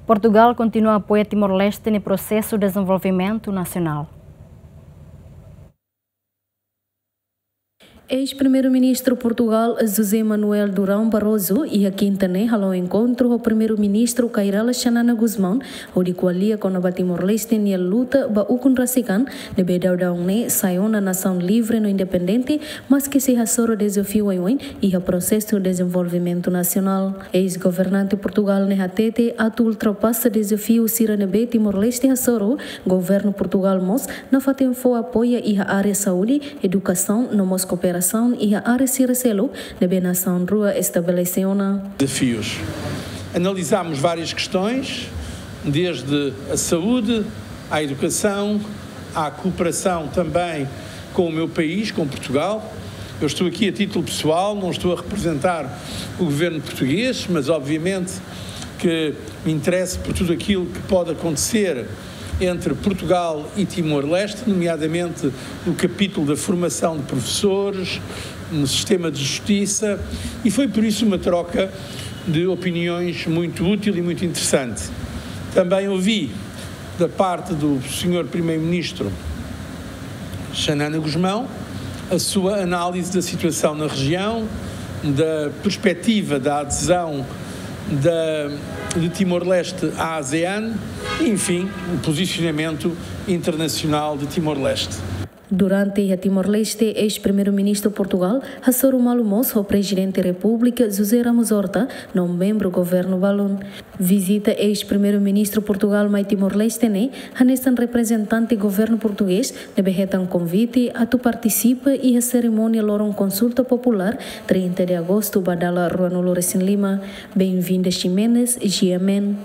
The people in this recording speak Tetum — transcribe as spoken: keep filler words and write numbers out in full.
Portugal kontinua apoia Timor-Leste nia prosesu dezenvolvimentu nasionál. Eis-Primeiru-Ministru Portugal, José Manuel Durão Barroso, iha kinta ne'e halo enkontru ho Primeiru-Ministru Kay Rala Xanana Gusmão, hodi ko'alia kona-ba Timor-Leste nia luta ba ukun rasik an, ne'ebé daudaun ne'e sai ona nasaun livre no independente, maski sei hasoru dezafiu oioin iha prosesu dezenvolvimentu nasionál. Eis-governante Portugal ne'e hatete atu ultrapasa dezafiu sira ne'ebé Timor-Leste hasoru, governu Portugal mós nafatin fó apoia iha área saúde, edukasaun no mós kooperasaun iha área sira seluk ne'ebé nasaun rua estabelese ona. Desafios. Analisámos várias questões, desde a saúde, à educação, à cooperação também com o meu país, com Portugal. Eu estou aqui a título pessoal, não estou a representar o governo português, mas obviamente que me interesso por tudo aquilo que pode acontecer entre Portugal e Timor-Leste, nomeadamente no capítulo da formação de professores, no sistema de justiça, e foi por isso uma troca de opiniões muito útil e muito interessante. Também ouvi, da parte do senhor Primeiro-Ministro Xanana Gusmão, a sua análise da situação na região, da perspectiva da adesão da, de Timor-Leste à ASEAN, enfim, o posicionamento internacional de Timor-Leste. Durante iha Timor-Leste, eis-Primeiru-Ministru Portugal hasoru malu mós ho Prezidente Repúblika José Ramos Horta no membru governu balun. Vizita eis-Primeiru-Ministru Portugal mai Timor-Leste ne'e hanesan reprezentante governu portugés ne'ebé hetan konvite atu partisipa iha serimónia loron konsulta populár trinta de agostu ba dala ruanulu-resin-lima. Benvinda Ximenes, G M N.